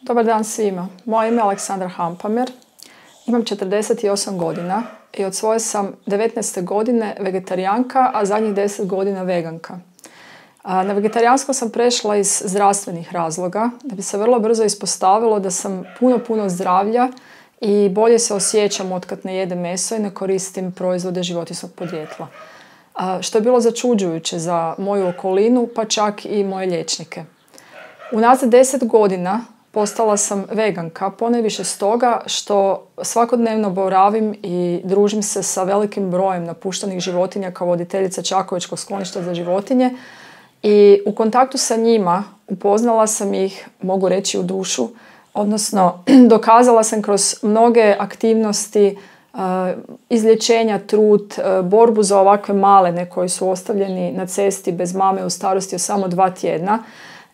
Dobar dan svima. Moje ime je Aleksandra Hampamer. Imam 48 godina i od svoje sam 19. godine vegetarijanka, a zadnjih 10 godina veganka. Na vegetarijansko sam prešla iz zdravstvenih razloga, da bi se vrlo brzo ispostavilo da sam puno zdravlja i bolje se osjećam otkad ne jedem meso i ne koristim proizvode životinjskog podrijetla. Što je bilo začuđujuće za moju okolinu, pa čak i moje liječnike. Unazad 10 godina postala sam veganka, ponajviše stoga što svakodnevno boravim i družim se sa velikim brojem napuštenih životinja kao voditeljica Čakovečkog skloništa za životinje i u kontaktu sa njima upoznala sam ih, mogu reći, u dušu, odnosno dokazala sam kroz mnoge aktivnosti izlječenja, trud, borbu za ovakve malene koji su ostavljeni na cesti bez mame u starosti od samo 2 tjedna,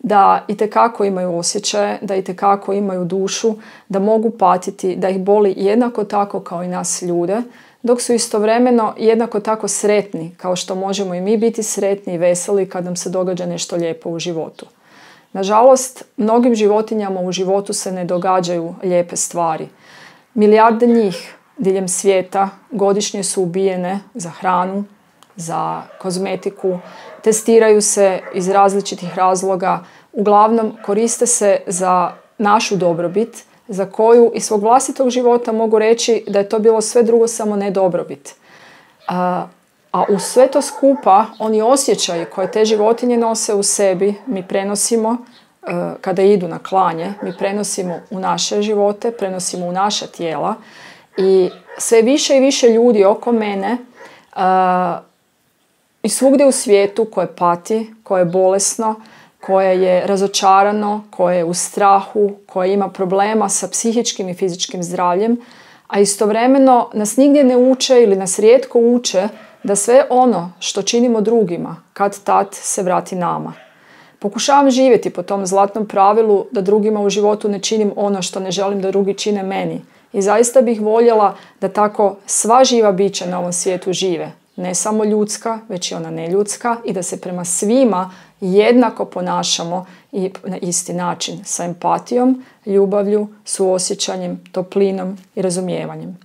da itekako imaju osjećaje, da itekako imaju dušu, da mogu patiti, da ih boli jednako tako kao i nas ljude, dok su istovremeno jednako tako sretni, kao što možemo i mi biti sretni i veseli kad nam se događa nešto lijepo u životu. Nažalost, mnogim životinjama u životu se ne događaju lijepe stvari. Milijarde njih diljem svijeta godišnje su ubijene za hranu, za kozmetiku, testiraju se iz različitih razloga, uglavnom koriste se za našu dobrobit, za koju iz svog vlastitog života mogu reći da je to bilo sve drugo samo ne dobrobit. A uz sve to skupa, oni osjećaji koje te životinje nose u sebi, mi prenosimo kada idu na klanje, mi prenosimo u naše živote, prenosimo u naša tijela i sve više i više ljudi oko mene i svugdje u svijetu koje pati, koje je bolesno, koje je razočarano, koje je u strahu, koje ima problema sa psihičkim i fizičkim zdravljem, a istovremeno nas nigdje ne uče ili nas rijetko uče da sve ono što činimo drugima kad-tad se vrati nama. Pokušavam živjeti po tom zlatnom pravilu da drugima u životu ne činim ono što ne želim da drugi čine meni. I zaista bih voljela da tako sva živa bića na ovom svijetu žive. Ne samo ljudska, već i ona neljudska i da se prema svima jednako ponašamo i na isti način, sa empatijom, ljubavlju, suosjećanjem, toplinom i razumijevanjem.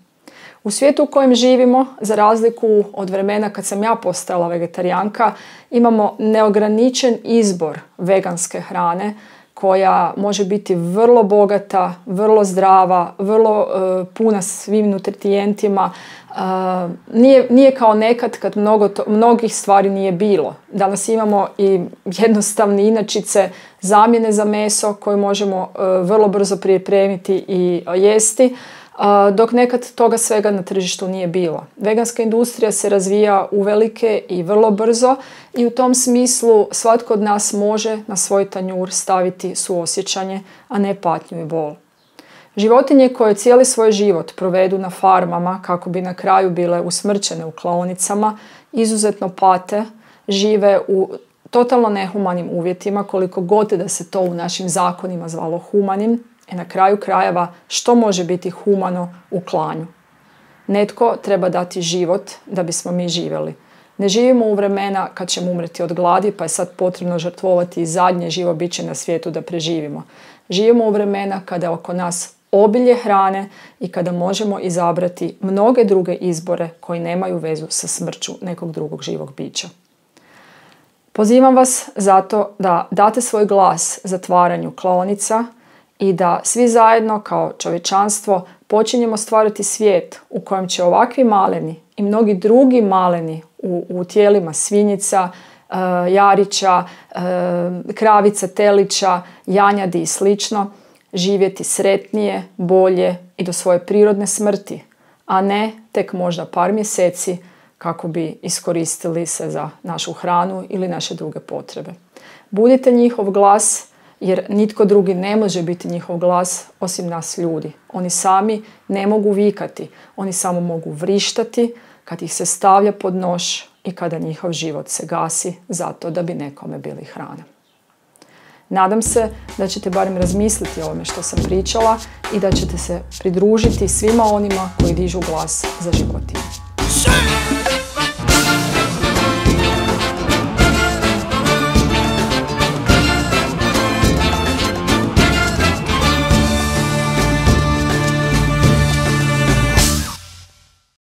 U svijetu u kojem živimo, za razliku od vremena kad sam ja postala vegetarijanka, imamo neograničen izbor veganske hrane koja može biti vrlo bogata, vrlo zdrava, vrlo puna svim nutrijentima. Nije kao nekad kad mnogih stvari nije bilo. Danas imamo i jednostavne inačice, zamjene za meso koje možemo vrlo brzo pripremiti i jesti, dok nekad toga svega na tržištu nije bilo. Veganska industrija se razvija uvelike i vrlo brzo i u tom smislu svatko od nas može na svoj tanjur staviti suosjećanje, a ne patnju i bol. Životinje koje cijeli svoj život provedu na farmama kako bi na kraju bile usmrćene u klaonicama, izuzetno pate, žive u totalno nehumanim uvjetima, koliko god da se to u našim zakonima zvalo humanim, i na kraju krajeva što može biti humano u klanju. Netko treba dati život da bismo mi živjeli. Ne živimo u vremena kad ćemo umreti od gladi, pa je sad potrebno žrtvovati i zadnje živo biće na svijetu da preživimo. Živimo u vremena kada je oko nas obilje hrane i kada možemo izabrati mnoge druge izbore koji nemaju vezu sa smrću nekog drugog živog bića. Pozivam vas zato da date svoj glas zatvaranju klaonica i da svi zajedno kao čovječanstvo počinjemo stvarati svijet u kojem će ovakvi maleni i mnogi drugi maleni u tijelima svinjica, jarića, kravica, telića, janjadi i slično živjeti sretnije, bolje i do svoje prirodne smrti, a ne tek možda par mjeseci kako bi iskoristili se za našu hranu ili naše druge potrebe. Budite njihov glas, jer nitko drugi ne može biti njihov glas osim nas ljudi. Oni sami ne mogu vikati, oni samo mogu vrištati kad ih se stavlja pod nož i kada njihov život se gasi zato da bi nekome bili hrana. Nadam se da ćete barem razmisliti o ovome što sam pričala i da ćete se pridružiti svima onima koji dižu glas za životinje.